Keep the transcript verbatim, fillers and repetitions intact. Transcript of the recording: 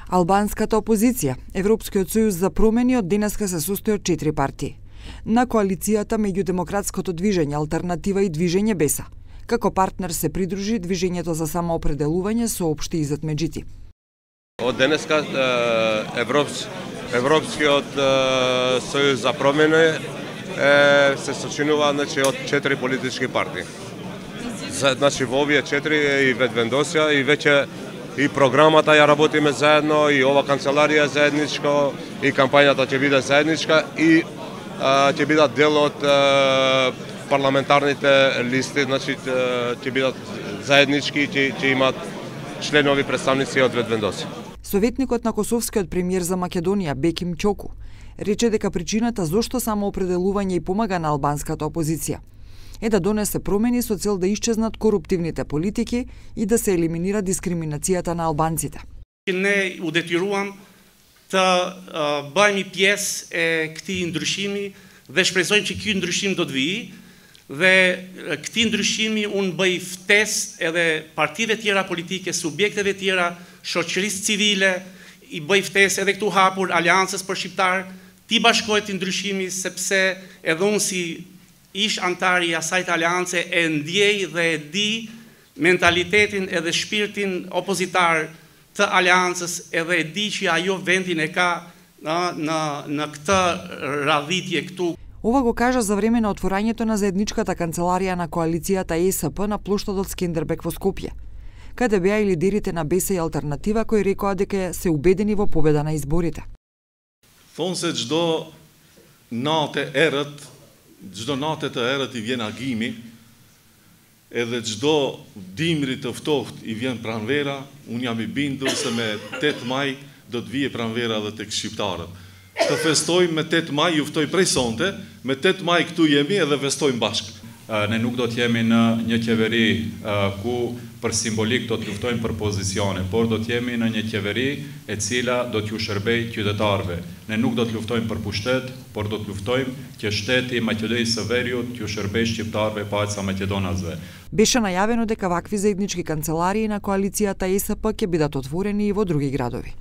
Албанската опозиција, Европскиот сојуз за промени, од денеска се состои од четири партии. На коалицијата меѓу Демократското движење, Алтернатива и Движење Беса. Како партнер се придружи Движењето за самоопределување, соопшти Изет Меджити. Од денеска Европс, Европскиот сојуз за промени се сочинува, значи, од четири политички партии. Значи во овие четири и ведвендосија и веќе и програмата ја работиме заедно, и ова канцеларија заедничко, и кампањата ќе биде заедничка, и а, ќе бидат дел од а, парламентарните листи, значи ќе бидат заеднички, ќе, ќе имат членови представници од ведвендосија. Советникот на косовскиот премиер за Македонија Беким Ќоку рече дека причината зошто самоопределување и помага на албанската опозиција е да донесе промени со цел да исчезнат коруптивните политики и да се елиминира дискриминацијата на албанците. Не удетируам të bëhemi pjesë e këtij ndryshimi dhe shpresojmë që ky ndryshim do të vijë dhe këtij ndryshimi unë bëj ftesë edhe partive tjera politike, subjekteve tjera, shoqërisë civile, i bëj ftesë edhe këtu hapur Aleancës për Shqiptar, ti bashkohet i ndryshimi sepse edhe unë si ish antari i asaj aleance e ndjej dhe e di mentalitetin edhe shpirtin opozitar të aleancës, edhe e di që ajo vendin e ka në, në, në këtë radhitje këtu. Ова го кажа за време на отворањето на заедничката канцеларија на коалицијата Е С П на плоштадот Скендербек во Скопје, каде беа и лидерите на Беса и Алтернатива кои рекоа дека се убедени во победа на изборите. Thonë se çdo natë errët, çdo natë të errët i vjen agimi, edhe çdo dimri të ftohtë i vjen pranvera. Unë jam i bindur se me tetë maj do të vijë pranvera edhe tek shqiptarët. Të festojmë me tetë maj, ju ftoj prej sonte, me tetë maj këtu jemi edhe festojmë bashkë. Ne nuk do të jemi në një qeveri ku për simbolik do të luftojmë për pozicione, por do të jemi në një qeveri e cila do t'ju shërbej qytetarëve. Ne nuk do të luftojmë për pushtet, por do të luftojmë që shteti Maqedonisë së Veriut t'ju shërbej shqiptarëve pa aq sa maqedonasve. Беше најавено дека вакви заеднички канцеларии на коалицијата Е С П ќе бидат отворени и во други градови.